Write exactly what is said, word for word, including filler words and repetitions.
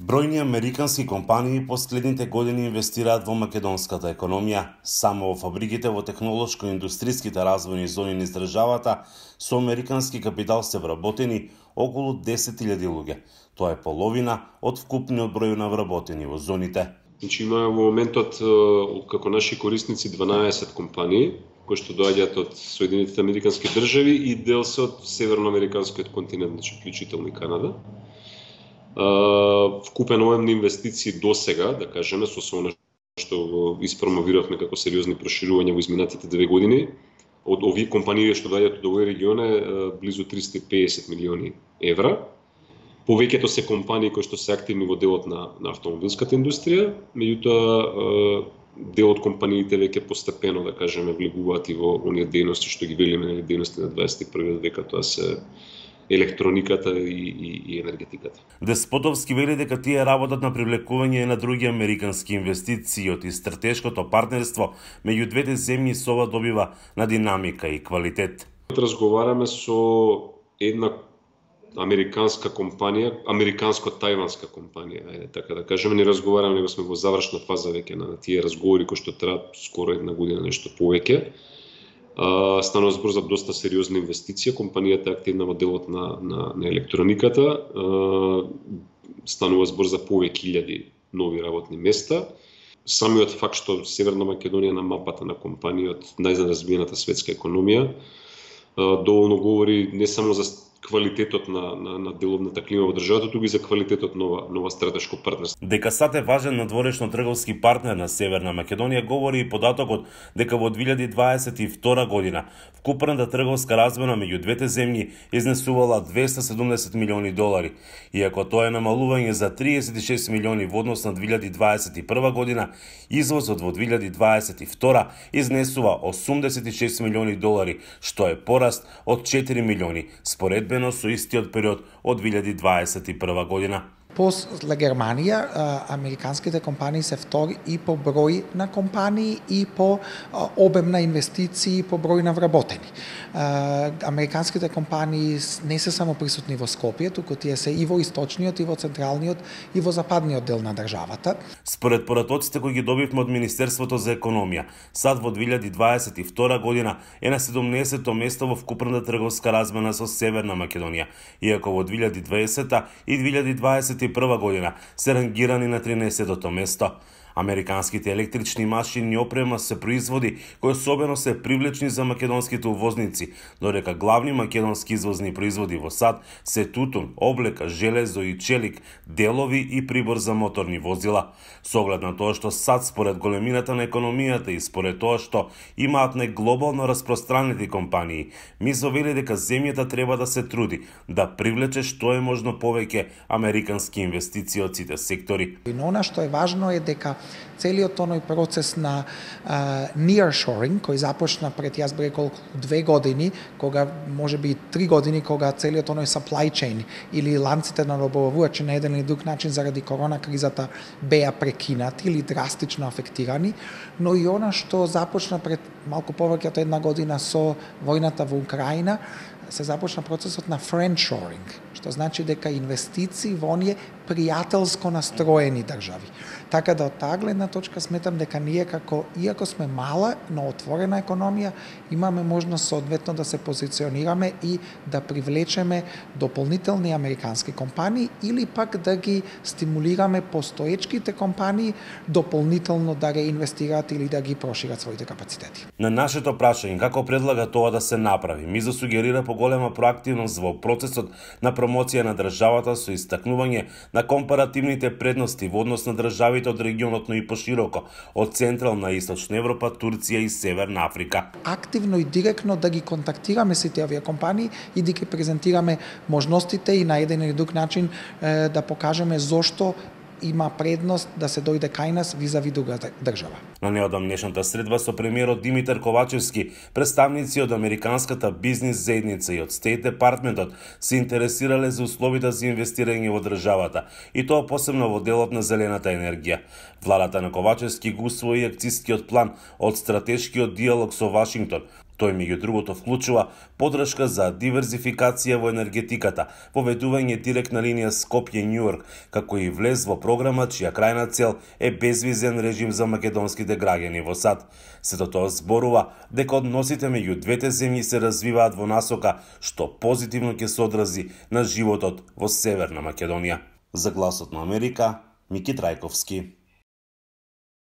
Бројни американски компании последните години инвестираат во македонската економија. Само во фабриките во технолошко-индустриските развојни зони низ државата со американски капитал се вработени околу десет илјади луѓе. Тоа е половина од вкупниот број на вработени во зоните. Значи имаме во моментот како наши корисници дванаесет компании кои што доаѓаат од Соединетите американски држави и дел се од северноамериканскиот континент, значи вклучително и Канада. Uh, вкупен обем на инвестиции до сега, да кажеме, со се она што го испромовиравме како сериозни проширувања во изминатите две години, од овие компании што доаѓаат од овој регион е uh, близу триста и педесет милиони евра. Повеќето се компании кои што се активни во делот на, на автомобилската индустрија, меѓутоа uh, дел од компаниите веќе постепено, да кажеме, влегуваат и во оние дејности што ги велиме, дејности на дваесет и првиот век, тоа се електрониката и, и, и енергетиката. Деспотовски вели дека тие работат на привлекување на други американски инвестиции од и стратешкото партнерство меѓу двете земји со ова добива на динамика и квалитет. Разговараме со една американска компанија, американско-тајванска компанија, ајде така да кажеме, не разговараме, него сме во завршна фаза веќе на тие разговори кои што траат скоро една година, нешто повеќе. Uh, станува збор за доста сериозна инвестиција, компанијата е активна во делот на, на, на електрониката, uh, станува збор за повеќе илјади нови работни места. Самиот факт што Северна Македонија на мапата на компании од најразвиената светска економија, uh, доволно говори не само за квалитетот на, на, на деловната клима во државата, туку и за квалитетот нова, нова стратешко партнерство. Дека САД е важен надворешно трговски партнер на Северна Македонија говори и податокот дека во две илјади дваесет и втора година вкупната трговска размена меѓу двете земји изнесувала двесте седумдесет милиони долари, иако тоа е намалување за триесет и шест милиони во однос на две илјади дваесет и прва година, извозот во две илјади дваесет и втора изнесува осумдесет и шест милиони долари, што е пораст од четири милиони според со истиот период од две илјади дваесет и прва година. После Германија, американските компании се втори и по број на компании и по обем на инвестиции и по број на вработени. Американските компании не се само присутни во Скопје, туку тие се и во источниот, и во централниот, и во западниот дел на државата. Според поратоците кои ги добивме од Министерството за економија, САД во две илјади дваесет и втора година е на седумнаесетто место во вкупната трговска размена со Северна Македонија, иако во две илјади дваесета и две илјади дваесет и прва година се рангирани на тринаесеттото место. Американските електрични машини и опрема се производи кои особено се привлечни за македонските увозници, додека главни македонски извозни производи во САД се тутун, облека, железо и челик, делови и прибор за моторни возила. Со оглед на тоа што САД според големината на економијата и според тоа што имаат неглобално распространети компании, Мизо вели дека земјата треба да се труди да привлече што е можно повеќе американски инвестиции од сите сектори. Но она што е важно е дека целиот тоној процес на uh, nearshoring, кој започна пред јас би рекол две години, кога можеби три години, кога целиот тоној supply chain или ланците на добавувачи на еден или друг начин заради корона кризата беа прекинати или драстично афектирани, но и она што започна пред малку повеќе од една година со војната во Украина, се започна процесот на friendshoring, што значи дека инвестиции во оние пријателско настроени држави. Така да од таа гледна точка сметам дека ние како, иако сме мала, но отворена економија, имаме можност соодветно да се позиционираме и да привлечеме дополнителни американски компании или пак да ги стимулираме постоечките компании дополнително да реинвестираат или да ги прошират своите капацитети. На нашето прашање како предлага тоа да се направи, Мизо сугерира поголема проактивност во процесот на промоција на државата со истакнување на компаративните предности во однос на државите од регионот, но и пошироко од Централна и Источна Европа, Турција и Северна Африка. Активно и директно да ги контактираме сите овие компании и да ги презентираме можностите и на еден или друг начин е, да покажеме зошто има предност да се дојде кај нас визави друга држава. На неодамнешната средба со премиерот Димитар Ковачевски, представници од американската бизнис заедница и од Стейт Департментот се интересирале за условите за инвестирање во државата, и тоа посебно во делот на зелената енергија. Владата на Ковачевски го усвои акцискиот план од стратешкиот диалог со Вашингтон, Тој меѓу другото вклучува поддршка за диверзификација во енергетиката, поведување директна линија Скопје-Њујорк, како и влез во програма чија крајна цел е безвизен режим за македонските граѓани во САД. Сето тоа зборува дека односите меѓу двете земји се развиваат во насока што позитивно ќе се одрази на животот во Северна Македонија. За Гласот на Америка, Мики Трајковски.